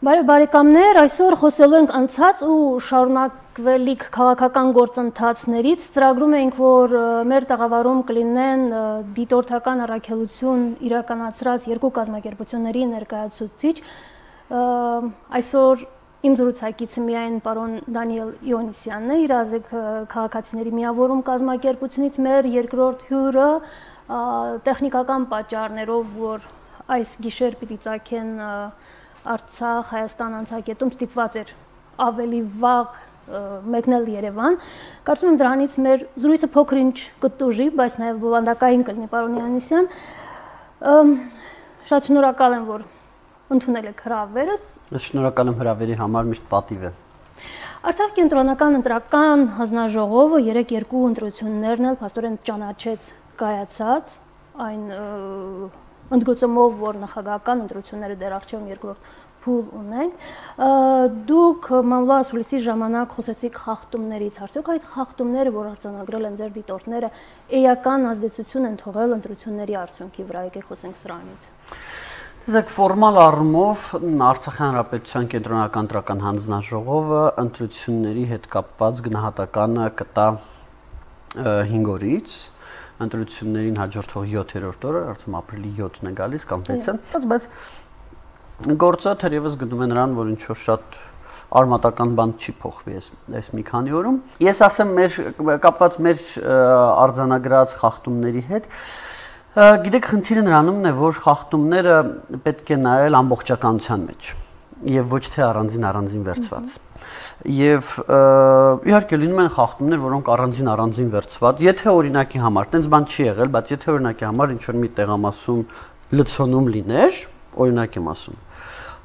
Բարեկամներ, այսօր խոսելու ենք անցած ու շարունակվելիք քաղաքական գործընթացներից, ծրագրում ենք, որ մեր տաղավարում կլինեն դիտորդական առաքելություն իրականացրած երկու կազմակերպությունների ներկայացուցիչ, այսօր իմ զրուցակիցը միայն պարոն Դանիել Իոնիսյանն է, իրազեկ քաղաքացիների միավորում կազմակերպությունից, մեր երկրորդ հյուրը տեխնիկական պատճառներով, որ այս գիշեր պիտի ծագեն Արցախ, Հայաստան անցակետում ստիպված էր ավելի վաղ մեկնել Երևան։ Կարծում եմ դրանից մեր զրույցը փոքր-ինչ կտուժի, բայց նաև բովանդակային կլինի, պարոն Իոնիսյան։ Շատ շնորհակալ եմ, որ ընդունել եք հրավերս։ Շնորհակալ եմ հրավերի համար, միշտ պատիվ է։ Արցախ կենտրոնական ընտրական հանձնաժողովը երեք երկու ընտրություններն էլ փաստորեն ճանաչեց կայացած այն ընդգծումով, որ նախագահական ընտրությունները դեռ առջև երկրորդ փուլ ունենք, դուք մամուլի հուլիսի ժամանակ խոսեցիք խախտումներից, արդյոք այդ խախտումները, որ արձանագրել են ձեր դիտորդները, էական ազդեցություն են թողել ընտրությունների արդյունքի վրա, եկեք խոսենք սրանից։ Տեսեք, ֆորմալ առումով Արցախի Հանրապետության կենտրոնական ընտրական հանձնաժողովը ընտրությունների հետ կապված գնահատականը կտա 5 օրից, ընտրություններին հաջորդող 7-րդ օրը, արդեն ապրիլի 7-ն է գալիս կամ 6-ը, բայց գործը թերևս գնում է նրան, որ ինչ-որ շատ արմատական բան չի փոխվի այս մի քանի օրում։ Ես ասեմ, կապված մեր արձանագրած խախտումների հետ, գիտեք, խնդիրը նրանումն է, որ խախտումները պետք է նայել ամբողջականության մեջ եւ ոչ թե առանձին վերցված։ Եվ իհարկե լինում են խախտումներ, որոնք առանձին վերցված, եթե օրինակի համար, տենց բան չի եղել, բայց եթե օրինակի համար ինչ որ մի տեղամասում լցոնում լիներ, օրինակ եմ ասում,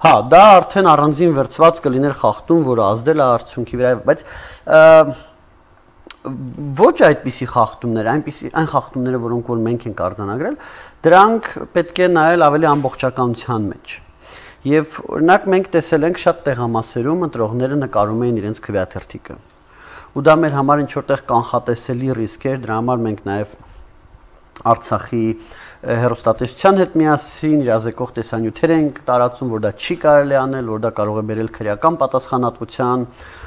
հա, դա արդեն առանձին վերցված կլիներ խախտում, որը ազդել է արդյունքի վրա, բայց ոչ այդպիսի խախտումներ, այն խախտումները, որոնք որ մենք ենք արձանագրել, դրանք պետք է նայել ավելի ամբողջականության մեջ։ Եվ օրինակ մենք տեսել ենք շատ տեղամասերում ընտրողները նկարում էին իրենց քվեաթերթիկը։ Ու դա մեր համար ինչ որտեղ կանխատեսելի ռիսկ էր, դրա համար մենք նաև Արցախի հեռուստատեսության հետ միասին իրազեկող տեսանյութեր ենք տարածում, որ դա չի կարելի անել, որ դա կարող է բերել քրեական պատասխանատվության,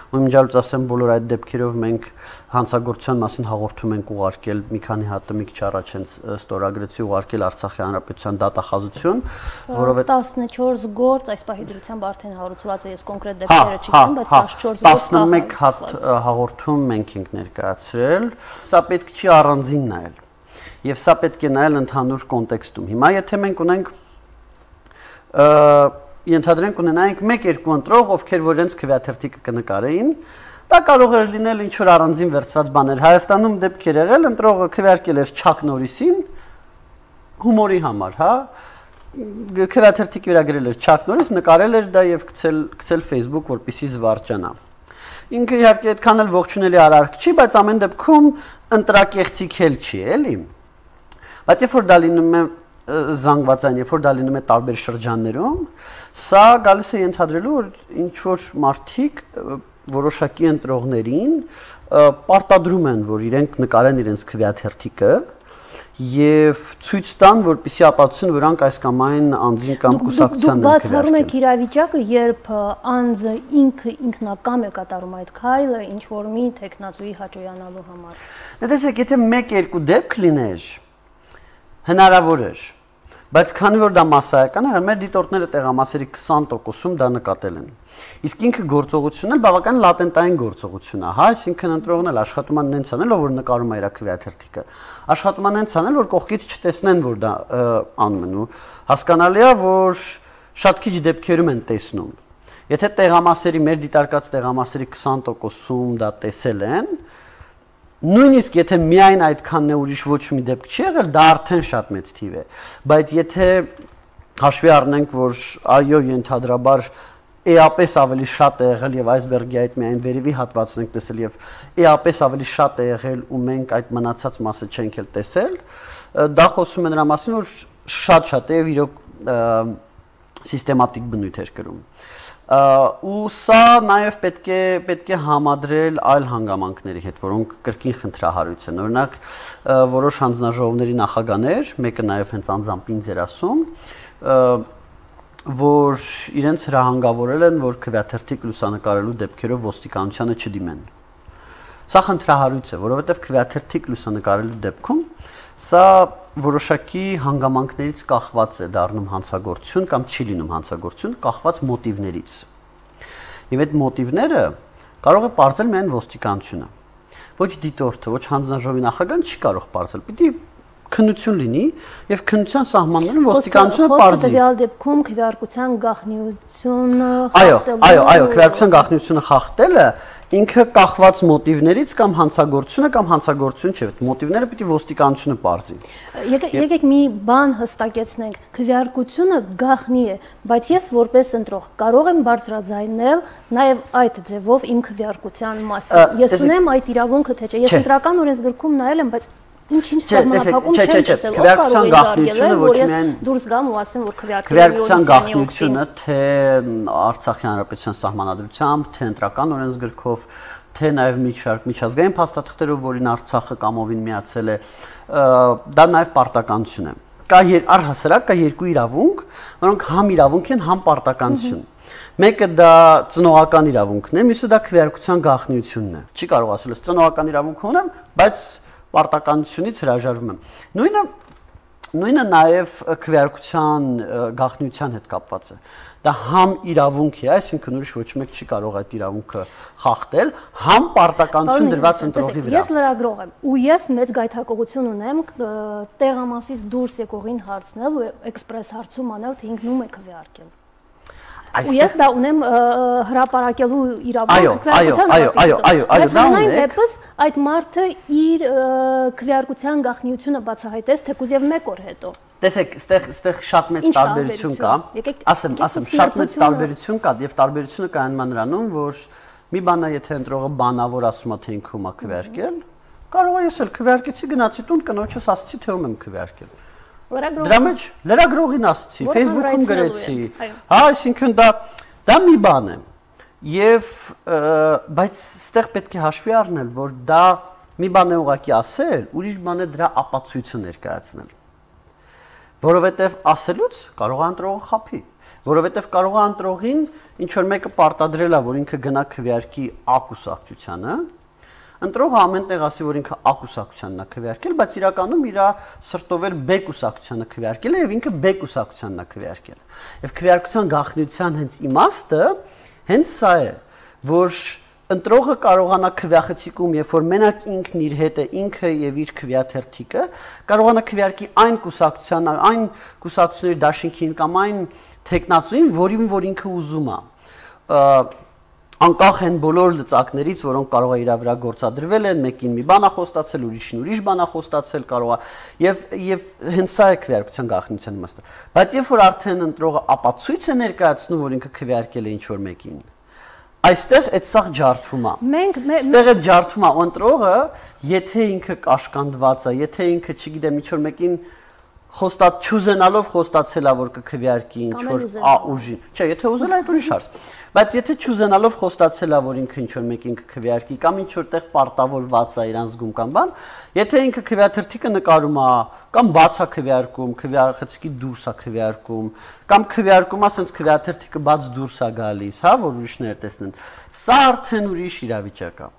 ու իմիջիալից ասեմ, բոլոր այդ դեպքերով մենք հանցագործության մասին հաղորդում ենք ուղարկել մի քանի հատ մի քիչ առաջ հենց ստորագրեցի ուղարկել Արցախի Հանրապետության դատախազություն, որովհետեւ 14 գործ այս պահի դրությամբ արդեն հարուցված է, ես կոնկրետ դեպքերը չգիտեմ, բայց 14 11 հատ հաղորդում մենք ենք ներկայացրել, սա պետք չի առանձին նայել։ Եվ սա պետք է նայել ընդհանուր կոնտեքստում։ Հիմա եթե մենք ունենք ենթադրենք ունենայինք 1-2 ընտրող, ովքեր որ իրենց քվեաթերթիկը կնկարեին, դա կարող էր լինել ինչ որ առանձին վերցված բաներ։ Հայաստանում դեպքեր եղել, ընտրողը քվեարկել էր Չակ Նորիսին հումորի համար, հա։ Քվեաթերթիկի վրա գրել էր Չակ Նորիս, նկարել էր դա եւ գցել Facebook, որպեսզի զվարճանա։ Ինքը իհարկե այդքան էլ ողջունելի արարք չի, բայց ամեն դեպքում ընտրակեղծիք էլ չի, էլի։ Բայց երբ որ դա լինում է զանգվածային, երբ որ դա լինում է տարբեր շրջաններում, սա գալիս է ենթադրելու, որ ինչ որ մարդիկ որոշակի ընտրողներին պարտադրում են, որ իրենք նկարեն իրենց քվեաթերթիկը եւ ցույց տան, որպեսզի ապացուցեն, որ նրանք այս կամ այն անձին կամ կուսակցության են քվեարկել։ Դուք բացառում եք իրավիճակը, երբ անձը ինքը ինքնակամ է կատարում այդ քայլը, ինչ որ մի տեխնացուի հաճոյանալու համար։ Տեսեք, եթե 1-2 դեպք լիներ, հնարավոր էր, բայց քանի որ դա massայական է, մեր դիտորդները տեղամասերի 20%-ում դա նկատել են։ Իսկ ինքը գործողությունն էլ բավական լատենտային գործողություն է, հա, այսինքն ընտրողն էլ աշխատում են նենց անել, որ նկարում է իր քվեաթերթիկը։ Աշխատում են նենց անել, որ կողքից չտեսնեն, որ դա անում են, ու հասկանալի է, որ շատ քիչ դեպքերում են տեսնում։ Եթե տեղամասերի մեր դիտարկած տեղամասերի 20%-ում դա տեսել են, նույնիսկ եթե միայն այդքանն է ուրիշ ոչ մի դեպք չի եղել, դա արդեն շատ մեծ թիվ է, բայց եթե հաշվի առնենք, որ այո, ենթադրաբար էապես ավելի շատ է եղել եւ այսբերգի այդ միայն վերևի հատվածն ենք տեսել եւ էապես ավելի շատ է եղել ու մենք այդ մնացած մասը չենք էլ տեսել, դա խոսում է նրա մասին, որ շատ է եւ իրոք սիստեմատիկ բնույթ էր կրում։ Ու սա նաև պետք է համադրել այլ հանգամանքների հետ, որոնք կրկին խնդրահարույց են։ Օրինակ, որոշ հանձնաժողովների նախագահներ, մեկը նաև հենց անձամբ ինձ էր ասում, որ իրենց հրահանգավորել են, որ քվեաթերթիկ լուսանկարելու դեպքերով ոստիկանությանը չդիմեն։ Սա խնդրահարույց է, որովհետև քվեաթերթիկ լուսանկարելու դեպքում սա որոշակի հանգամանքներից կախված է դառնում հանցագործություն կամ չի լինում հանցագործություն, կախված մոտիվներից։ Եվ այդ մոտիվները կարող է պարզել միայն ոստիկանությունը։ Ոչ դիտորդը, ոչ հանձնաժողովի նախագահան չի կարող պարզել։ Պիտի քննություն լինի եւ քննության սահմաններում ոստիկանությունը պարզի։ Խոսքը դեպքում քվեարկության գաղտնիությունը խախտելը։ Այո, քվեարկության գաղտնիությունը խախտելը ինքը կախված մոտիվներից կամ հանցագործությունը կամ հանցագործություն չէ, մոտիվները պիտի ոստիկանությունը պարզի։ Եկեք մի բան հստակեցնենք, քվեարկությունը գաղտնի է, բայց ես որպես ընտրող կարող եմ բարձրաձայնել նաև այդ ձևով իմ քվեարկության մասին։ Ես ունեմ այդ իրավունքը թե չէ։ Ես ընտրական օրենսգրքում նայել եմ, բայց ինչ սահմանափակում չեմ տեսել։ Քվեարկության գաղտնիությունը ոչ միայն դուրս գամ ու ասեմ, որ քվեարկության գաղտնիությունը թե Արցախի հանրապետության սահմանադրությամբ, թե ընտրական օրենսգրքով, թե նաև միջազգային փաստաթղթերով, որին Արցախը կամովին միացել է, դա նաև պարտականություն է։ Կա առհասարակ կա երկու իրավունք, որոնք համ իրավունք են, համ պարտականություն։ Մեկը դա ծնողական իրավունքն է, մյուսը դա քվեարկության գաղտնիությունն է։ Չի կարող ասել, ես ծնողական իրավունք ունեմ, բայց պարտականությունից հրաժարվում եմ։ Նույնը նաև քվեարկության գաղտնիության հետ կապված է։ Դա համ իրավունք է, այսինքն ուրիշ ոչ մեկ չի կարող այդ իրավունքը խախտել, համ պարտականություն դրված ընտրողի վրա։ Ես լրագրող եմ ու ես մեծ գայթակղություն ունեմ տեղամասից դուրս եկողին հարցնել ու էքսպրես հարցում անել, թե ինքն ում է քվեարկել։ Ու ես դա ունեմ հրապարակելու իրավունք քվեարկության գաղտնիությունը։ Դեպս այդ մարդը իր քվեարկության գաղտնիությունը բացահայտեց թեկուզ եւ 1 օր հետո։ Տեսեք, այստեղ շատ մեծ տարբերություն կա։ Ասեմ, շատ մեծ տարբերություն կա եւ տարբերությունը կա այն մանրանում, որ մի բան է, եթե ընտրողը բանավոր ասում է, թե ինքը ում է քվեարկել, կարող է ես էլ քվեարկեցի, գնացի տուն, կնոջս ասացի, թե ում եմ քվեարկել։ Դրա մեջ լրագրողին ասացի, Facebook-ում գրեցի։ Հա, այսինքն դա մի բան է։ Եվ բայց այստեղ պետք է հաշվի առնել, որ դա մի բան է ուղղակի ասել, ուրիշ բան է դրա ապացույցը ներկայացնել։ Որովհետև ասելուց կարող է ընտրողը խաբի, որովհետև կարող է ընտրողին ինչ որ մեկը պարտադրել է, որ ինքը գնա քվեարկի A կուսակցությանը, ընտրողը ամեն տեղ ասի, որ ինքը A կուսակցությանն է քվեարկել, բայց իրականում իր սրտով էլ B կուսակցությանը քվեարկել է եւ ինքը B կուսակցությանն է քվեարկել։ Եվ քվեարկության գաղտնիության հենց իմաստը հենց սա է, որ ընտրողը կարողանա քվեախցիկում, երբ որ մենակ ինքն իր հետ է, ինքը եւ իր քվեաթերթիկը, կարողանա քվեարկի այն կուսակցությունների դաշինքին կամ այն տեխնացուին, որ ինքը ուզում է։ Անկախ են բոլոր լծակներից, որոնք կարող է իր վրա գործադրվել են, մեկին մի բան է խոստացել, ուրիշին ուրիշ բան է խոստացել, կարող է եւ հենց սա է քվեարկության գաղտնիության իմաստը։ Բայց երբ որ արդեն ընտրողը ապացույց է ներկայացնում, որ ինքը քվեարկել է ինչ-որ մեկին, այստեղ այդ սաղ ջարդվում է։ Այստեղ այդ ջարդվում է ընտրողը, եթե ինքը կաշկանդված է, եթե ինքը, չգիտեմ, ինչ-որ մեկին չուզենալով խոստացել է, որ կքվեարկի ինչ-որ ուժին։ Չէ, եթե ուզել է, այդ ուրիշ հարց։ Բայց եթե չուզենալով խոստացել է, որ ինքը ինչ-որ մեկին կքվեարկի կամ ինչ-որ տեղ պարտավորված է իրան զգում կամ բան, եթե ինքը քվեաթերթիկը նկարում է կամ բաց է քվեարկում, քվեախցիկի դուրս է քվեարկում, կամ քվեարկում է, ասենց քվեաթերթիկը բաց դուրս է գալիս, հա, որ ուրիշները տեսնեն, սա արդեն ուրիշ իրավիճակ է։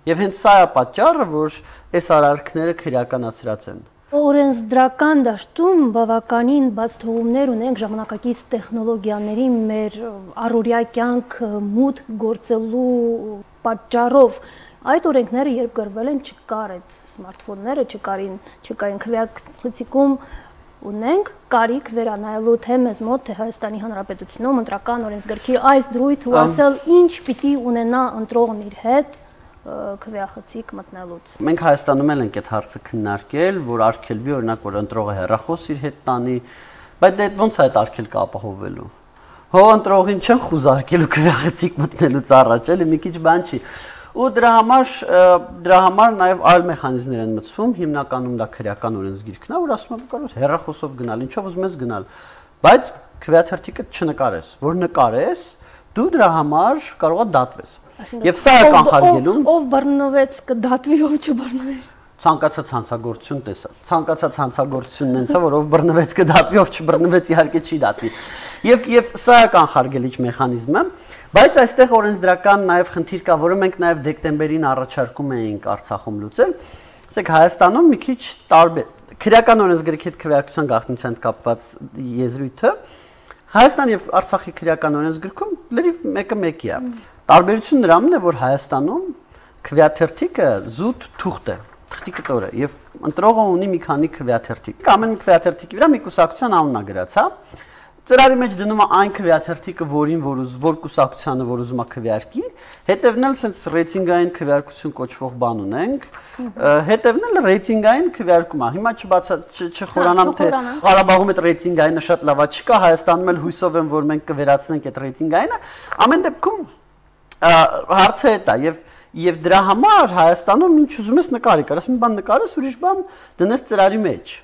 Եվ հենց սա է պատճառը, որ այս արարքները քրեականացրած են։ Օրենսդրական դաշտում բավականին բաց թողումներ ունենք ժամանակակից տեխնոլոգիաների մեր առօրյա կյանք մուտք գործելու պատճառով։ Այդ օրենքները երբ գրվել են, չկար այդ սմարթֆոնները, չկային քվեակցիկում ունենք կարիք վերանայելու թե մեզ մոտ, թե Հայաստանի Հանրապետությունում ընտրական օրենսգրքի այս դրույթ ու ասել ինչ պիտի ունենա ընտրողն իր հետ քվեախցիկ մտնելուց։ Մենք Հայաստանում էլ ենք այդ հարցը քննարկել, որ արգելվի օրինակ որ ընտրողը հեռախոս իր հետ տանի, բայց դա ոնց է այդ արգելքը ապահովելու։ Հո ընտրողին չեն խուզարկելու քվեախցիկ մտնելուց առաջ, էլի մի քիչ բան չի։ Ու դրա համար նաև այլ մեխանիզմներ են մտցվում, հիմնականում դա քրեական օրենսգիրքն է, որ ասում է կարող ես հեռախոսով գնալ, ինչով ուզում ես գնալ, բայց քվեաթերթիկը չնկարես, որ նկարես, դու դրա համար կարող ես դատվես։ Եվ սա է կանխարգելում։ Ով բռնվեց կդատվի, ով չբռնվեց։ Ցանկացած հանցագործություն տեսա։ Ցանկացած հանցագործությունն հենց է, որ ով բռնվեց կդատվի, ով չբռնվեց իհարկե չի դատվի։ Եվ սա է կանխարգելիչ մեխանիզմը, բայց այստեղ օրենսդրական նաև խնդիր կա, որը մենք նաև դեկտեմբերին առաջարկում էինք Արցախում լուծել։ Ասեք Հայաստանում մի քիչ տարբեր քրեական օրենսգրքի հետ քվեարկության գաղտնիության հետ կապված եզրույթը Հայաստան եւ Արցախի քրեական օրենսգրքում լրիվ մեկը մեկի է։ Տարբերությունն նրանում է, որ Հայաստանում քվեաթերթիկը զուտ թուղթ է, թղթի կտոր է եւ ընտրողը ունի մի քանի քվեաթերթիկ։ Ամեն քվեաթերթիկի վրա մի կուսակցության անունն է գրած, հա։ Ծրարի մեջ դնում է այն քվեաթերթիկը, որ կուսակցությանը որ ուզում է քվեարկի, հետևն էլ sense ռեյտինգային քվեարկություն կոչվող բան ունենք, հետևն էլ ռեյտինգային քվեարկում է։ Հիմա չխորանամ թե Ղարաբաղում այդ ռեյտինգայինը շատ լավ չկա, Հայաստանում էլ հույսով եմ, որ մենք կվերացնենք այդ ռեյտինգայինը։ Ամեն դեպքում հարցը է դա եւ դրա համար Հայաստանում ինչ ուզում ես նկարի, կարաս մի բան նկարես, ուրիշ բան դնես ծրարի մեջ։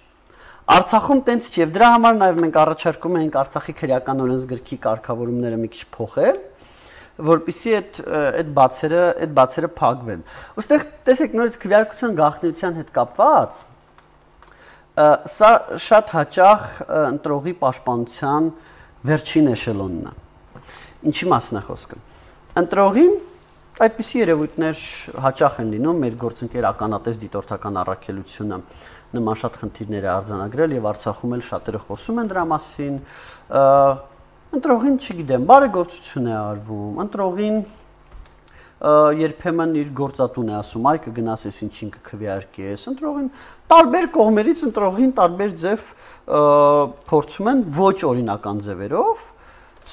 Արցախում տենց չի եւ դրա համար նաեւ մենք առաջարկում ենք Արցախի քրեական օրենսգրքի կարգավորումները մի քիչ փոխել, որպեսզի այդ բացերը փակվեն։ Ոստեղ տեսեք նորից քվեարկության գաղտնիության հետ կապված սա շատ հաճախ ընտրողի պաշտպանության վերջին էշելոնն է։ Ինչի մասն է խոսքը։ Ընտրողին այդպիսի երևույթներ հաճախ են լինում, մեր գործընկեր ականատես դիտորդական առաքելությունը նման շատ խնդիրներ է արձանագրել եւ Արցախում էլ շատերը խոսում են դրա մասին։ Ընտրողին, չգիտեմ, բարեգործություն է արվում, ընտրողին երբեմն իր գործատուն է ասում, այ կգնաս ես ինչին կքվեարկես, ընտրողին տարբեր կողմերից ընտրողին տարբեր ձև փորձում են ոչ օրինական ձևերով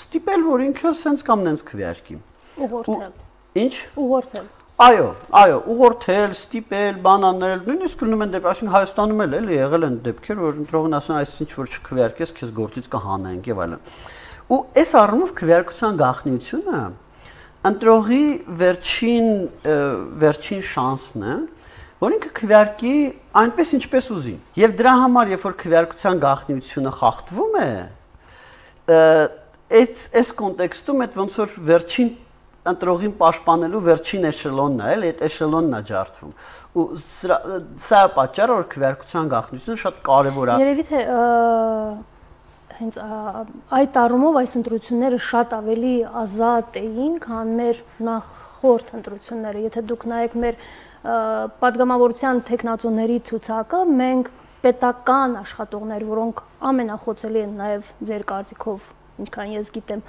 ստիպել, որ ինքը սենց կամ նենց քվեարկի։ Ուղղորդել։ Ինչ։ Ուղղորդել։ Այո, ուղղորդել, ստիպել, բանանել, նույնիսկ գնում են դեպք, այսինքն Հայաստանում էլ էլի եղել են դեպքեր, որ ընտրողն ասում է, այսինչ որ չքվեարկես, քեզ գործից կհանենք եւ այլն։ Ու այս առումով քվեարկության գաղտնիությունը ընտրողի վերջին շանսն է, որ ինքը քվեարկի այնպես ինչպես ուզի։ Եվ դրա համար, երբ որ քվեարկության գաղտնիությունը խախտվում է, այս կոնտեքստում այդ ոնց որ վերջին ընտրողին պաշտպանելու վերջին էշելոնն է, էլ այդ էշելոնն է ջարդվում։ Ու սա է պատճառը, որ քվեարկության գաղտնիությունը շատ կարևոր է։ Երևի թե հենց այդ առումով այս ընտրությունները շատ ավելի ազատ էին, քան մեր նախորդ ընտրությունները։ Եթե դուք նայեք մեր падգամավորության տեխնացուների ցուցակը, մենք պետական աշխատողներ, որոնք ամենախոցելի են նաև ձեր կարծիքով, ինչքան ես գիտեմ,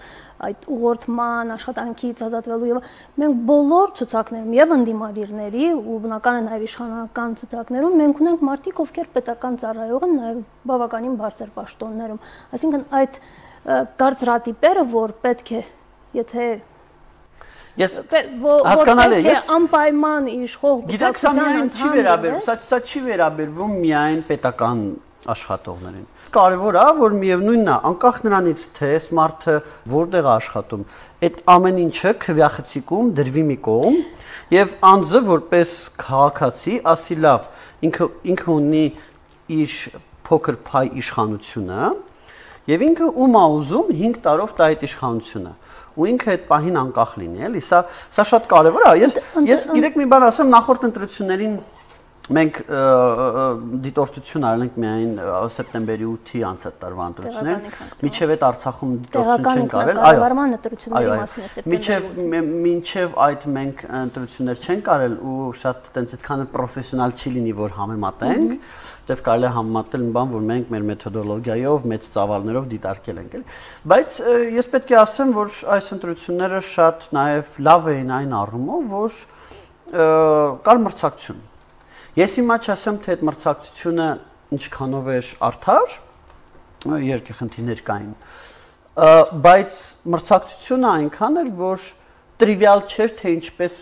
այդ ուղղորդման աշխատանքից ազատվելու եւ մենք բոլոր ցուցակներում եւ ընդդիմադիրների ու բնական է նաեւ իշխանական ցուցակներում մենք ունենք մարդիկ, ովքեր պետական ծառայող են, նաեւ բավականին բարձր պաշտոններում։ Այսինքն այդ կարծրատիպերը, որ պետք է, եթե ես հասկանալի է, անպայման իշխող բնակչության ընդհանրապես սա չի վերաբերվում միայն պետական աշխատողներին։ Կարևոր է, որ միևնույնն է, անկախ նրանից, թե այս մարդը որտեղ է աշխատում, այդ ամեն ինչը քվեախցիկում դրվի մի կողմ եւ անձը որպես քաղաքացի ասի լավ, ինքը ունի իր փոքր փայ իշխանությունը եւ ինքը ում է ուզում 5 տարով տա այդ իշխանությունը ու ինքը այդ պահին անկախ լինի, էլի, սա շատ կարևոր է։ Ես գիտեք մի բան ասեմ, նախորդ ընտրություններին մենք դիտորդություն արենք միայն սեպտեմբերի 8-ի անցած տարվա ընտրություններ, միջև այդ Արցախում դիտորդություն չենք արել, մինչև այդ մենք ընտրություններ չենք արել ու շատ տենց այդքան պրոֆեսիոնալ չի լինի, որ համեմատենք, դեռ կարելի է համեմատել մի բան, որ մենք մեր մեթոդոլոգիայով, մեծ ծավալներով դիտարկել ենք, էլի։ Բայց ես պետք է ասեմ, որ այս ընտրությունները շատ նաև լավ էին այն առումով, որ կար մրցակցություն։ Ես հիմա չասեմ, թե այդ մրցակցությունը ինչքանով էր արդար, երկու խնդիրներ կային, բայց մրցակցությունը այնքան էր, որ տրիվիալ չէր, թե ինչպես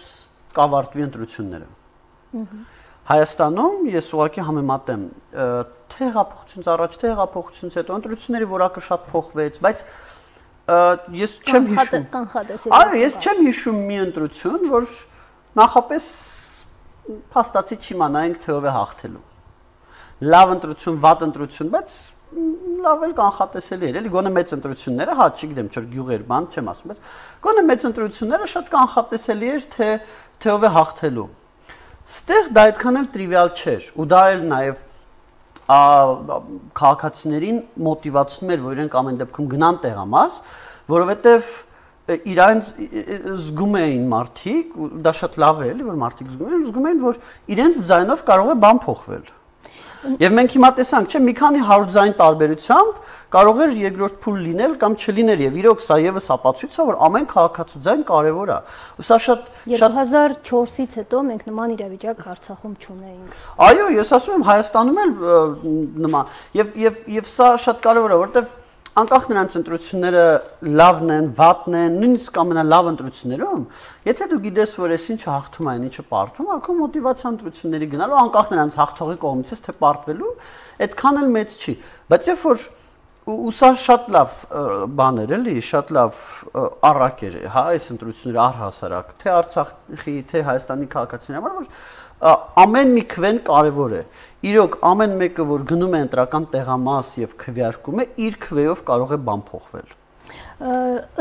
կավարտվի ընտրությունները։ Հայաստանում ես ուղղակի համեմատեմ, թե հեղափոխությունից առաջ, թե հեղափոխությունից հետո ընտրությունների որակը շատ փոխվեց, բայց ես չեմ հիշում։ Այո, ես չեմ հիշում մի ընտրություն, որ նախապես փաստացի չիմանայինք թե ով է հաղթելու։ Լավ ընտրություն, վատ ընտրություն, բայց լավ էլ կանխատեսելի էր, էլի գոնե մեծ ընտրությունները, հա, չգիտեմ, չոր գյուղեր բան չեմ ասում, բայց գոնե մեծ ընտրությունները շատ կանխատեսելի էր թե ով է հաղթելու։ Ստեղ դա այդքան էլ տրիվիալ չէր, ու դա էլ նաև քաղաքացիներին մոտիվացնում էր, որ իրենք ամեն դեպքում գնան տեղամաս, որովհետև իրենց զգում էին մարդիկ, ու դա շատ լավ է, էլի, որ մարդիկ զգում էին, որ իրենց ձայնով կարող է բան փոխվել։ Եվ մենք հիմա տեսանք, չէ, մի քանի 100 ձայն տարբերությամբ կարող էր երկրորդ փուլ լինել կամ չլինել, եւ իրոք սա եւս ապացույց է, որ ամեն քաղաքացու ձայն կարեւոր է։ Ու սա շատ 2004-ից հետո մենք նման իրավիճակ Արցախում չունեինք։ Այո, ես ասում եմ Հայաստանում էլ նման եւ սա շատ կարեւոր է, որովհետեւ անկախ նրանց ընտրությունները լավն են, վատն են, նույնիսկ ամենալավ ընտրություններում, եթե դու գիտես, որ այս ինչը հաղթում է, ինչը պարտվում է, քո մոտիվացիա ընտրությունների գնալու, անկախ նրանց հաղթողի կողմից է թե պարտվելու, այդքան էլ մեծ չի։ Բայց երբ որ ու սա շատ լավ բան էր, էլի, շատ լավ առակ էր, հա, այս ընտրությունները առհասարակ, թե Արցախի, թե Հայաստանի քաղաքացիների համար, որ ամեն մի քվեն կարևոր է։ Իրոք ամեն մեկը, որ գնում է ընտրական տեղամաս եւ քվեարկում է, իր քվեով կարող է բան փոխվել։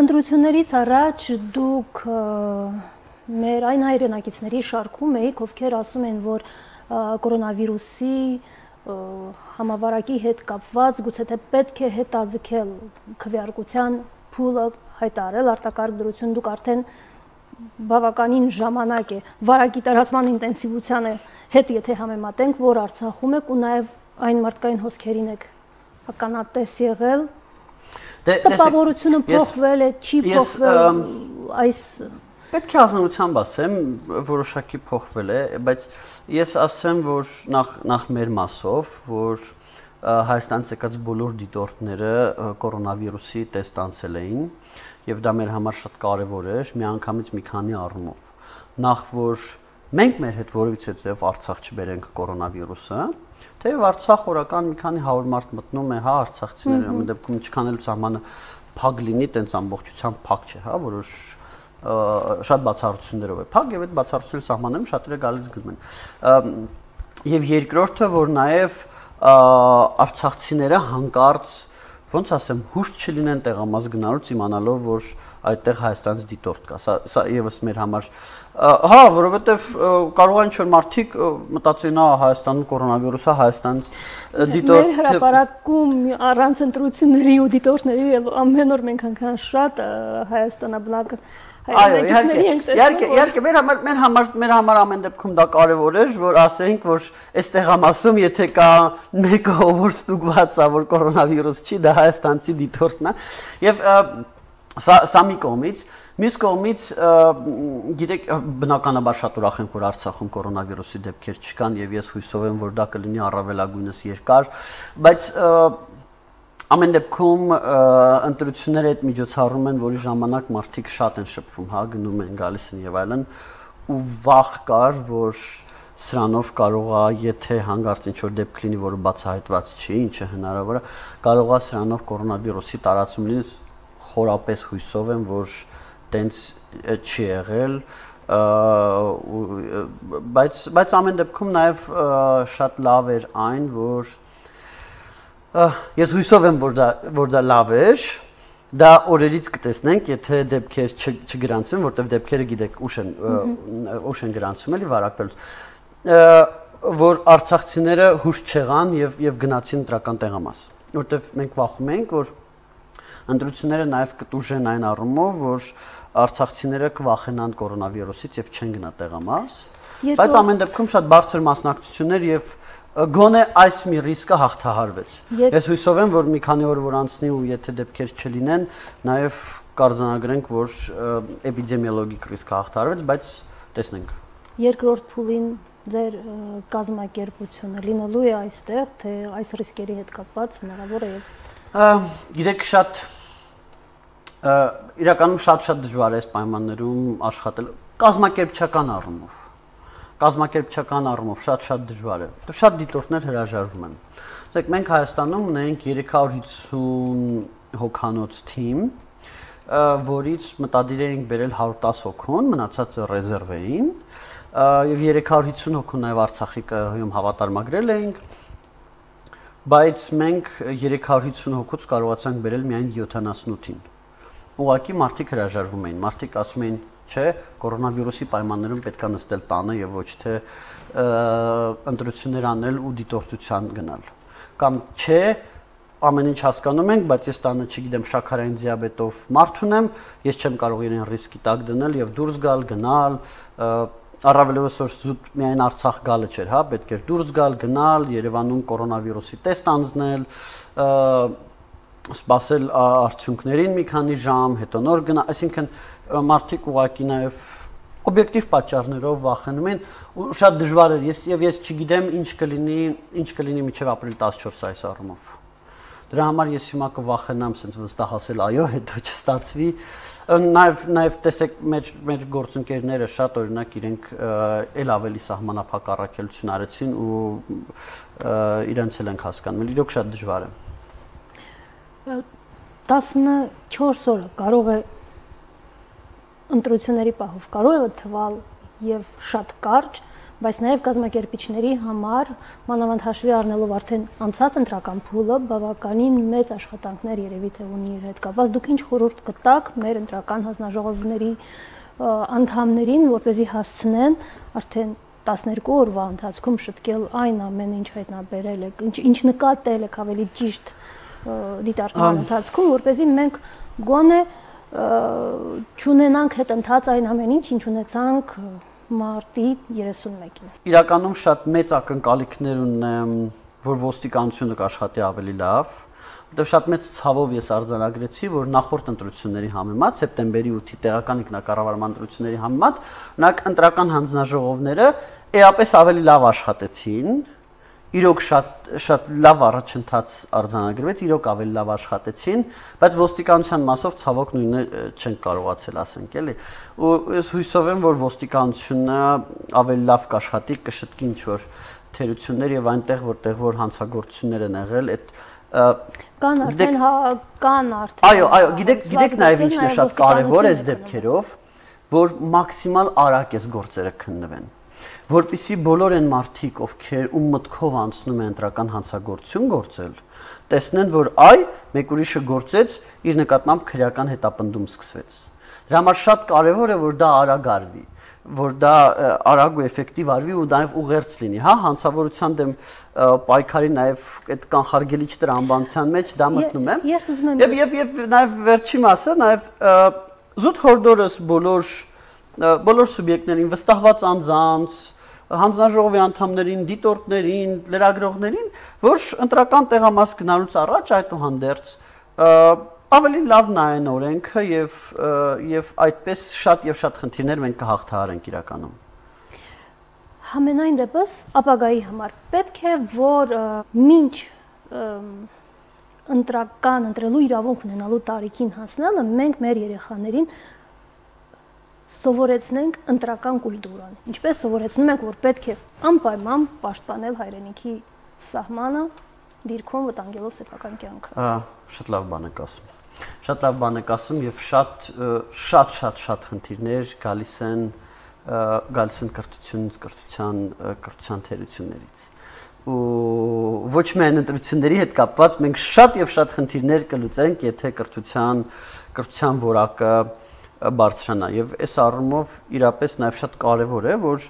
Ընտրություններից առաջ դուք մեր այն հայրենակիցների շարքում եք, ովքեր ասում են, որ կորոնավիրուսի համավարակի հետ կապված գուցե թե պետք է հետաձգել քվեարկության փուլը հայտարարել արտակարգ դրություն, դուք արդեն բավականին ժամանակ է վարակի տարածման ինտենսիվությանը հետ եթե համեմատենք, որ Արցախում եք ու նաև այն մարդկային հոսքերին եք ականատես եղել, տպավորությունը փոխվել է, չի փոխվել, այս պետք է ազնվությամբ ասեմ, որոշակի փոխվել է, բայց ես ասեմ, որ նախ մեր մասով, որ Հայաստանից եկած բոլոր դիտորդները կորոնավիրուսի տեստ անցել էին եւ դա մեր համար շատ կարեւոր էր միանգամից մի քանի առումով։ Նախ որ մենք մեր հետ որևիցե ձև Արցախ չբերենք կորոնավիրուսը, թեև Արցախ օրական մի քանի 100 մարդ մտնում է, հա, արցախցիները, ամեն դեպքում ինչքան էլ սահմանը փակ լինի, տենց ամբողջությամբ փակ չէ, հա, որոշ շատ բացառություններով է փակ եւ այդ բացառությունների սահմաններում շատերը գալիս գնում են։ Եվ երկրորդը, որ նաեւ արցախցիները հանկարծ ոնց ասեմ, հուշտ չլինեն տեղամաս գնալուց իմանալով, որ այդտեղ Հայաստանից դիտորդ կա։ Սա եւս մեր համար, հա, որովհետեւ կարող են ինչ-որ մարդիկ մտածեն, Հայաստանում կորոնավիրուսը, Հայաստանից դիտորդ։ Մեր հրապարակում առանց ընտրությունների ու դիտորդների ամեն օր մենք անգամ շատ Հայաստանաբնակ Այո, իհարկե, մեր համար ամեն դեպքում դա կարևոր էր, որ ասենք, որ այս տեղամասում, եթե կա մեկը, որ ստուգված է, որ կորոնավիրուս չի, դա հայաստանցի դիտորդն է։ Եվ սա մի կողմից, մյուս կողմից, գիտեք, բնականաբար շատ ուրախ ենք, որ Արցախում կորոնավիրուսի դեպքեր չկան, եւ ես հույսով եմ, որ դա կլինի առավելագույնս երկար, բայց ամեն դեպքում ընտրությունները այդ միջոցառում են, որի ժամանակ մարդիկ շատ են շփվում, հա, գնում են, գալիս են եւ այլն, ու վախ կար, որ սրանով կարող է, եթե հանգարց ինչ-որ դեպք լինի, որը բացահայտված չի, ինչը հնարավոր է, կարող է սրանով կորոնավիրուսի տարածում լինի, խորապես հույսով եմ, որ տենց չի եղել, բայց ամեն դեպքում նաեւ շատ լավ էր այն, որ ես հույսով եմ, որ դա լավ էր, դա օրերից կտեսնենք, եթե դեպքեր չգրանցվեն, որտեղ դեպքերը գիտեք ուշ են գրանցում, էլի վարակվելուց, որ արցախցիները հուշ չեղան եւ գնացին ընտրական տեղամաս, որտեղ մենք վախում ենք, որ ընտրությունները նաեւ կտուժեն այն առումով, որ արցախցիները կվախենան կորոնավիրուսից եւ չեն գնա տեղամաս, բայց ամեն դեպքում շատ բարձր մասնակցություններ եւ գոնե այս մի ռիսկը հաղթահարվեց։ Ես հույսով եմ, որ մի քանի օր որ անցնի ու եթե դեպքեր չլինեն, նաև կարձանագրենք, որ էպիդեմիոլոգիկ ռիսկը հաղթահարվեց, բայց տեսնենք։ Երկրորդ փուլին ձեր կազմակերպությունը լինելու է այստեղ, թե այս ռիսկերի հետ կապված հնարավոր է եւ գիտեք շատ իրականում շատ դժվար է այս պայմաններում աշխատել կազմակերպչական առումով։ Կազմակերպչական առումով շատ դժվար է։ Շատ դիտորդներ հրաժարվում են։ Ասեք, մենք Հայաստանում ունենք 350 հոգանոց թիմ, որից մտադիր էինք բերել 110 հոգուն, մնացածը ռեզերվ էին, եւ 350 հոգու նաեւ Արցախի ԿՀ-ում հավատարմագրել էինք, բայց մենք 350 հոգուց կարողացանք բերել միայն 78-ին։ Ուղղակի մարդիկ հրաժարվում էին, մարդիկ ասում էին չէ, կորոնավիրուսի պայմաններում պետք է նստել տանը եւ ոչ թե ընտրություններ անել ու դիտորդության գնալ։ կամ չէ, ամեն ինչ հասկանում ենք, բայց ես տանը չգիտեմ շաքարային դիաբետով մարդ ունեմ, ես չեմ կարող իրեն ռիսկի տակ դնել եւ դուրս գալ, գնալ, առավելևս որ զուտ միայն Արցախ գալը չէր, հա, պետք էր դուրս գալ, գնալ, Երևանում կորոնավիրուսի տեստ անցնել, սպասել արդյունքներին մի քանի ժամ, հետո նոր գնալ, այսինքն մարդիկ ուղղակի նաև օբյեկտիվ պատճառներով վախենում են ու շատ դժվար էր ես չգիտեմ ինչ կլինի մինչև ապրիլ 14 այս առումով։ Դրա համար ես հիմա կվախենամ sense վստահասել այո, հետո չստացվի։ Նաև տեսեք մեր գործընկերները շատ օրինակ իրենք էլ ավելի սահմանափակ առաքելություն արեցին ու իրենց էլ ենք հասկանում, իրոք շատ դժվար է։ 14 օրը կարող է ընտրությունների պահով կարող է թվալ եւ շատ կարճ, բայց նաև կազմակերպիչների համար մանավանդ հաշվի առնելով արդեն անցած ընտրական փուլը բավականին մեծ աշխատանքներ երևի թե ունի իր հետ կապված։ Դուք ինչ խորհուրդ կտաք մեր ընտրական հանձնաժողովների անդամներին, որպեսզի հասցնեն արդեն 12 օրվա ընթացքում շտկել այն ամենը, ինչ հայտնաբերել եք, ինչ նկատել եք ավելի ճիշտ դիտարկման ընթացքում, որպեսզի մենք գոնե չունենանք հետընթաց այն ամեն ինչ ունեցանք մարտի 31-ին։ Իրականում շատ մեծ ակնկալիքներ ունեմ, որ ոստիկանությունը կաշխատի ավելի լավ, որտեղ շատ մեծ ցավով ես արձանագրեցի, որ նախորդ ընտրությունների համեմատ սեպտեմբերի 8-ի տեղական ինքնակառավարման ընտրությունների համեմատ նրանք ընտրական հանձնաժողովները էապես ավելի լավ աշխատեցին, իրոք շատ լավ առաջընթաց արձանագրվեց, իրոք ավելի լավ աշխատեցին, բայց ոստիկանության մասով ցավոք նույնը չեն կարողացել ասենք, էլի։ Ու ես հույսով եմ, որ ոստիկանությունը ավելի լավ կաշխատի, կշտկի ինչ-որ թերություններ եւ այնտեղ, որտեղ որ հանցագործություններ են եղել, այդ կան արդեն Այո, գիտեք նաեւ ինչն է շատ կարեւոր այս դեպքերով, որ մաքսիմալ արագ էս գործերը քննվեն։ Որպեսզի բոլոր այն մարդիկ, ովքեր ում մտքով անցնում են ընտրական հանցագործություն գործել, տեսնեն, որ մեկ ուրիշը գործեց, իր նկատմամբ քրեական հետապնդում սկսվեց։ Դրա համար շատ կարևոր է, որ դա արագ արվի, որ դա արագ ու էֆեկտիվ արվի ու նաև ուղերձ լինի, հա, հանցավորության դեմ պայքարի նաև այդ կանխարգելիչ տրամաբանության մեջ դա մտնում եմ։ Ես ուզում եմ Եվ նաև վերջի մասը, նաև զուտ հորդորս բոլոր սուբյեկտներին, վստահված անձանց, հանձնաժողովի անդամներին, դիտորդներին, լրագրողներին, որ ընտրական տեղամաս գնալուց առաջ այդուհանդերձ ավելի լավ նայեն օրենքը եւ այդպես շատ խնդիրներ մենք կհաղթահարենք իրականում։ Համենայն դեպս ապագայի համար պետք է որ մինչ ընտրելու իրավունք ունենալու տարիքին հասնելը մենք մեր երեխաներին սովորեցնենք ընտրական կուլտուրան։ Ինչպես սովորեցնում ենք, որ պետք է անպայման պաշտպանել հայրենիքի սահմանը, դիրքում վտանգելով սեփական կյանքը։ Շատ լավ բան եք ասում։ Շատ լավ բան եք ասում եւ շատ խնդիրներ գալիս են կրթությունից, կրթության թերություններից։ Ու ոչ միայն ընտրությունների հետ կապված մենք շատ խնդիրներ կլուծենք, եթե կրթության որակը բարձրանա եւ այս առումով իրապես նաեւ շատ կարեւոր է որ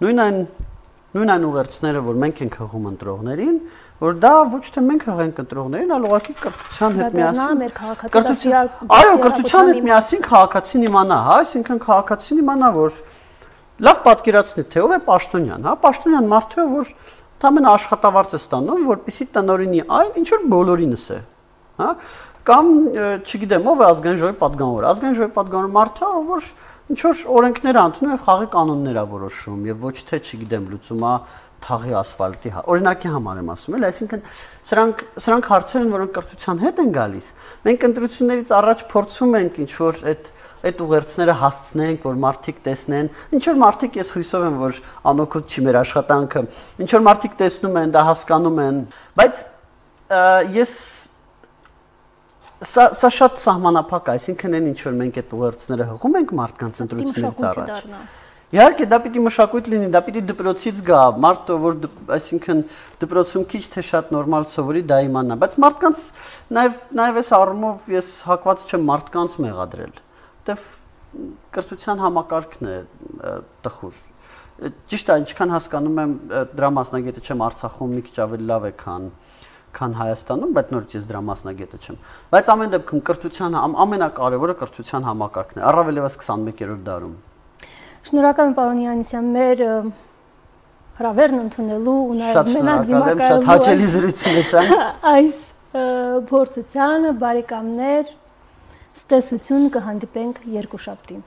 նույն այն ուղերձները որ մենք ենք հղում ընտրողներին որ դա ոչ թե մենք հղենք ընտրողներին այլ ուղղակի կրթության հետ միասին քաղաքացին իմանա հա այսինքն քաղաքացին իմանա որ լավ պատկերացնի թե ով է Պաշտոնյան հա Պաշտոնյան մարդը որ ընդամենը աշխատավարձ է ստանում որպեսզի տնօրինի այն ինչ որ բոլորինս է հա կամ չգիտեմ ով է ազգային ժողովի պատգամավոր ազգային ժողովի պատգամավոր մարդը որ ինչ որ օրենքներ ընդունում եւ խաղի կանոններ է որոշում եւ ոչ թե չգիտեմ լուծումա թաղի ասֆալտի օրինակի համար եմ ասում էլ այսինքն սրանք հարցեր են որոնք կրթության հետ են գալիս մենք ընտրություններից առաջ փորձում ենք ինչ որ այդ ուղերձները հասցնենք որ մարդիկ տեսնեն ինչ որ մարդիկ ես հույսով եմ որ անօգուտ չի մեր աշխատանքը ինչ որ մարդիկ տեսնում են դա հասկանում են բայց ես Սա շատ սահմանափակ է, այսինքն այն ինչ որ մենք այդ ուղերձները հղում ենք մարդկանց ընտրություններից առաջ։ Իհարկե դա պիտի մշակույթ լինի, դա պիտի դպրոցից գա, մարդը որ այսինքն դպրոցում քիչ թե շատ նորմալ սովորի դա իմանա, բայց մարդկանց նաև այս առումով ես հակված չեմ մարդկանց մեղադրել, որտեվ կրթության համակարգն է տխուր։ Ճիշտ է, ինչքան հասկանում եմ դրա մասնագետը չեմ Արցախում մի քիչ ավելի լավ է քան քան Հայաստանում, բայց նորից ես դրա մասնագետը չեմ։ Բայց ամեն դեպքում կրթության ամենակարևորը կրթության համակարգն է, առավել ևս 21-րդ դարում։ Շնորհակալ եմ պարոն Յանիսյան, մեր հրավերն ընդունելու ու նաև մենակ դիմակայելու շատ հաճելի զրույցներ այս փորձությանը, բարեկամներ, ստեսություն կհանդիպենք երկուշաբթի։